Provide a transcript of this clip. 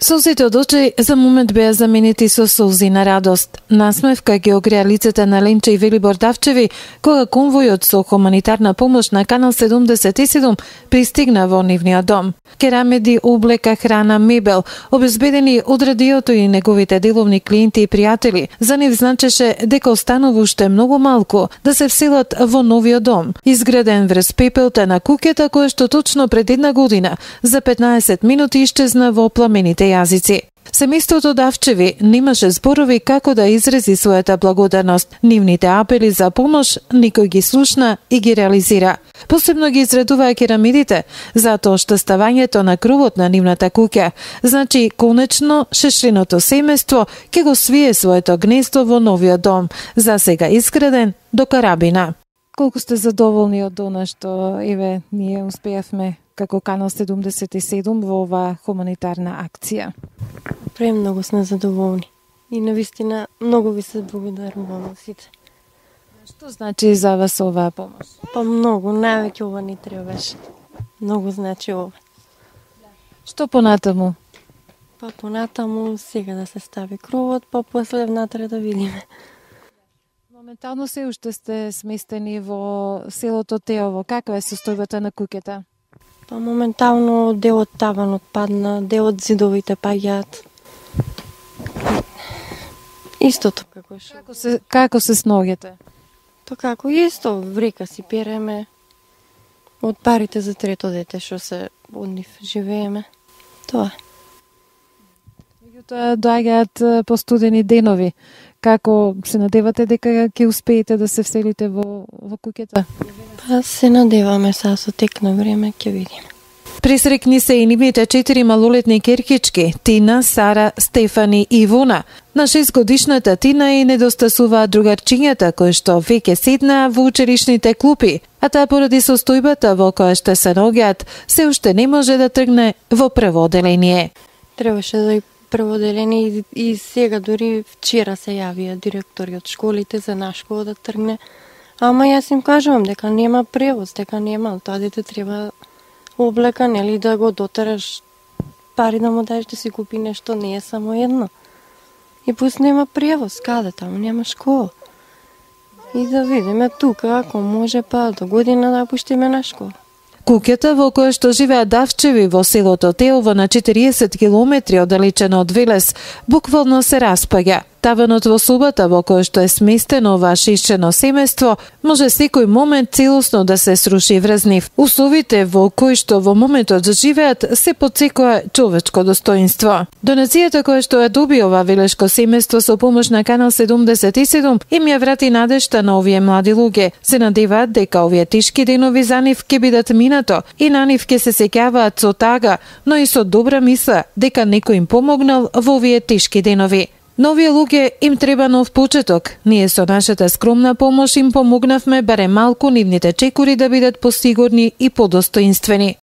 Солзите од очи за момент беа заменети со солзи на радост. Насмевка ги огреа лицата на Ленче и Велибор Давчеви кога конвојот со хуманитарна помош на Канал 77 пристигна во нивниот дом. Керамеди, облека, храна, мебел, обезбедени од радиото и неговите деловни клиенти и пријатели. За нив значеше дека останува уште многу малку да се вселат во новиот дом, изграден врз пепелта на куќата која што точно пред една година за 15 минути исчезна во пламените јазици. Семејството Давчеви немаше зборови како да изрази својата благодарност. Нивните апели за помош никој ги слушна и ги реализира. Посебно ги изредуваа керамидите, затоа што ставањето на кровот на нивната куќа значи конечно шешриното семејство ќе го свие своето гнездо во новиот дом, за сега изграден до карабина. Колку сте задоволни од она што ние успеавме како Канал 77 во оваа хуманитарна акција? Премногу сме задоволни и навистина многу ви се благодарувам сите. Што значи за вас оваа помош? Па многу, највеќе ова ни требаше. Многу значи ова. Што понатаму? Па понатаму сега да се стави кровот, па после внатре да видиме. Моментално се уште сте сместени во селото Теово. Каква е состојбата на куќата? Па моментално дел од таванот падна, дел од зидовите паѓаат. Истото Како се сногите? Па како исто, врека си переме. Од парите за трето дете што се од нив живееме. Тоа. Меѓутоа доаѓаат постудени денови. Како се надевате дека ќе успеете да се вселите во куќата? Па се надеваме сега со тек на време, ќе видиме. Присрекни се и нивните 4 малолетни керкички, Тина, Сара, Стефани и Ивона. На 6-годишната Тина и недостасуваат другарчињата кои што веќе седнаа во училишните клупи, а таа поради состојбата во која што се наоѓаат, се уште не може да тргне во прво оделение. Требаше да и прво оделение и сега дури вчера се јавија директори од школите за наш школа да тргне. Ама јас им кажувам дека нема превоз, дека нема, тоа дете треба облека, нели да го дотераш, пари да му дадеш да си купи нешто, не е само едно. И пуст нема превоз, каде таму нема школа. И да видиме тука, ако може па до година да пуштиме на школа. Куќата во која што живеат Давчеви во селото Теово на 40 километри оддалечено од Велес, буквално се распаѓа. Таванот во собата во која што е сместено оваа шишчено семејство може секој момент целосно да се сруши врз нив. Условите во кои што во моментот живеат се потсекува човечко достоинство. Донацијата која што ја доби ова велешко семејство со помош на Канал 77 им ја врати надежта на овие млади луѓе. Се надеваат дека овие тешки денови за нив ќе бидат минато и на нив ќе се сеќаваат со тага, но и со добра мисла дека некој им помогнал во овие тешки денови. На овие луѓе им треба нов почеток. Ние со нашата скромна помош им помогнавме барем малку нивните чекори да бидат посигурни и подостоинствени.